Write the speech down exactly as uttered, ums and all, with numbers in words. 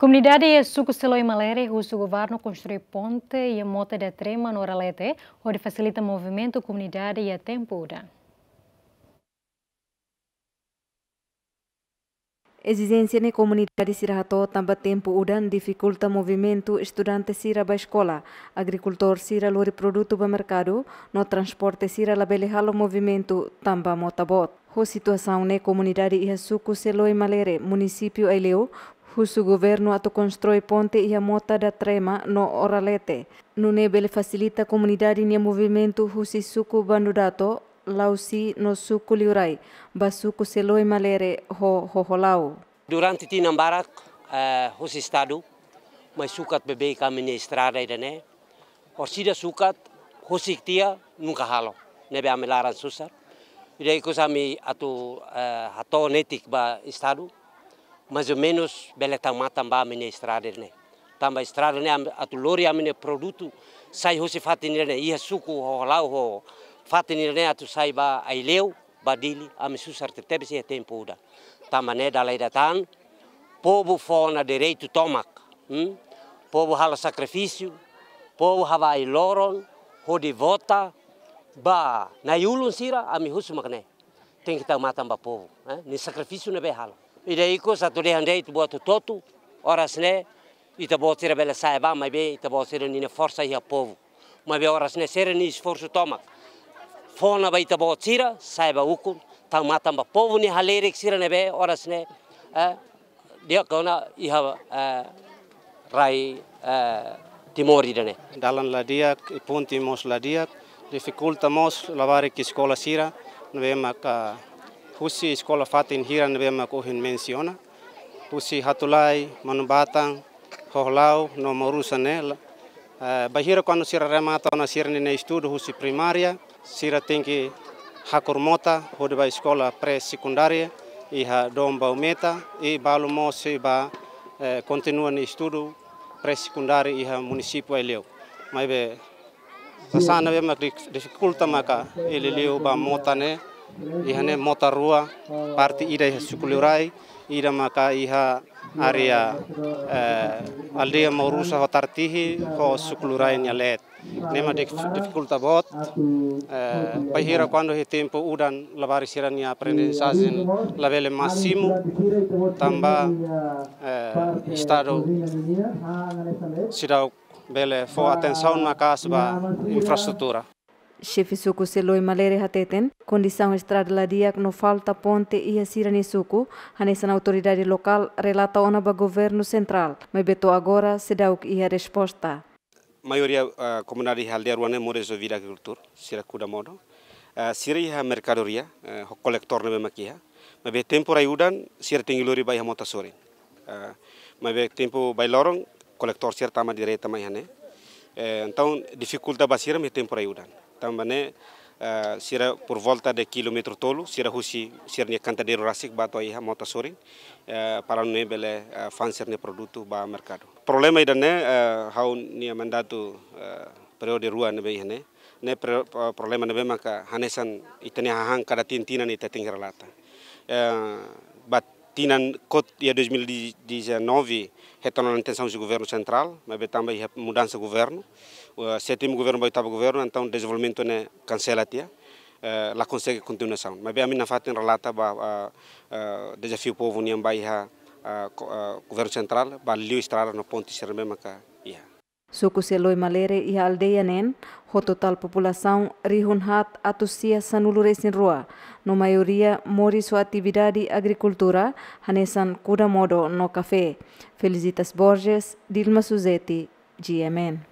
Komunidade iha suku Seloi Malere husu governu konstrui ponte iha mota da Trema no Oralete, hodi fasilita movimentu komunidade iha tempu udan. Ezijénsia ne'e komunidade sira hato'o tanba tempu udan difikulta movimentu estudante sira ba eskola, agrikultór sira lori produtu ba merkadu, no transporte sira labele halo movimentu tanba mota boot. Ho situasaun ne'e komunidade iha suku Seloi Malere, munisípiu Aileu, husu governu atu konstrui ponte iha mota da Trema no Oralete. Nune'e bele fasilita komunidade nia movimentu husi suku Bandu Dato, Lausi no suku Liurai, ba suku Seloi Malere ho Hoholau. Durante tinan barak, eh, husi estadu mai sukat beibeik ami-nia estrada ida-ne'e. Orsida sukat, husik tiha, nunka halo. Ne'ebé ami laran susar. Ida ikus ami atu, eh, hato'o netik ba estadu. Mais ou menus bele tau matan ba ami-nia estrada ne'e. Tanba estrada ne'e ami, atu lori ami-nia produtu sai husi fatin ne'e, iha suku Hoholau ho fatin ne'e atu sai ba Aileu, ba Dili, ami susar tebes iha tempu udan. Tanba ne'e dala ida tan, povu fó ona direitu tomak, hmm? Povu halo sakrifísiu, povu haba ai-loron, hodi vota ba na'i-ulun sira, ami husu mak ne'e. Tenke tau matan ba povu, eh? Nia sakrifísiu ne'ebé halo. Ida ikus atu dehan de'it buat hotu-hotu, oras ne'e, ita-boot sira bele sa'e ba, maibé ita-boot sira-nia forsa iha povu. Maibé oras ne'e sira-nia esforsu tomak. Fó ona ba ita-boot sira, sa'e ba ukun, tau matan ba povu nia halerik sira ne'ebé oras ne'e, eh, di'ak ona iha, eh, rai, eh, Timor ida-ne'e. Dalan la di'ak, i ponte mós la di'ak, difikulta mós labarik eskola sira, ne'ebé maka husi eskola fatin hira ne'ebé maka ohin mensiona. Husi Hatulai, Manubatan, Hoholau, no Maurusa ne'e, la, eh, bainhira kuandu sira remata ona sira-nia estudu husi primária, sira tenke hakur mota, hodi ba eskola pré-sekundária, iha Dom Baumeta, i balu mós sei ba, eh, kontinua nia estudu pré-sekundária iha munisípiu Aileu. Maibé, sasán ne'ebé mak dif-, difikulta maka liuliu ba mota ne'e, iha ne'e mota rua, parte ida iha suku Liurai, ida maka iha área, eh, aldeia Maurusa ho Tartihi, ho suku Liurai nia leet. Ne'e mak dif-, difikulta boot, eh, bainhira kuandu iha tempu udan labarik sira-nia aprendizajen labele másimu, tanba, eh, estadu seidauk bele fó atensaun maka'as ba infraestrutura. Xefe suku Seloi Malere hateten, kondisaun estrada la di'ak no falta ponte iha sira-nia suku, hanesan autoridade lokál relata ona ba governu sentrál, maibé to'o agora seidauk iha resposta. Maioria, ah, komunidade iha aldeia rua ne'e moris ho vida agrikultura, sira kuda modo. Ah, sira iha merkadoria, eh, ho kolektór ne'ebé mak iha. Maibé tempu rai udan, sira tenke lori ba iha mota sorin. Ah, maibé tempu bailoron, kolektór sira tama direta mai iha ne'e. Eh, entaun, difikulta ba sira iha tempu rai udan. Tanba ne'e, eh, sira por volta de kilómetru tolu, sira husi sira-nia kantadeiru rasik ba to'o iha mota sorin, eh, para nune'e bele, eh, fa'an sira-nia produtu ba merkadu. Problema ida-ne'e, eh, ha'u-nia mandatu, eh, períodu rua ne'ebé iha ne'e. Ne'e pro-, pro-, problema ne'ebé maka hanesan ita-nia hahán kada tinan-tinan ita tenke relata. Eh, ba tinan kotuk iha dois mil e dezanove, hetan ona intensaun husi governu sentrál, maibé tanba iha mudansa governu, eh, sétimu governu ba oitavu governu, entaun dezenvolvimentu ne'e kansela tiha, eh, la konsege kontinuasaun. Maibé ami nafatin relata ba, eh, eh, dezafiu povu nian ba iha, eh, ko-, eh, governu sentrál, ba liu estrada no ponte sira ne'ebé maka iha. Suku Seloi Malere iha aldeia neen, ho totál populasaun rihun haat atus sia sanulu-resin-rua, no maioria moris ho atividade agrikultura, hanesan kuda modo no kafé. Felicitas Borges, Dilma Suzeti, G M N.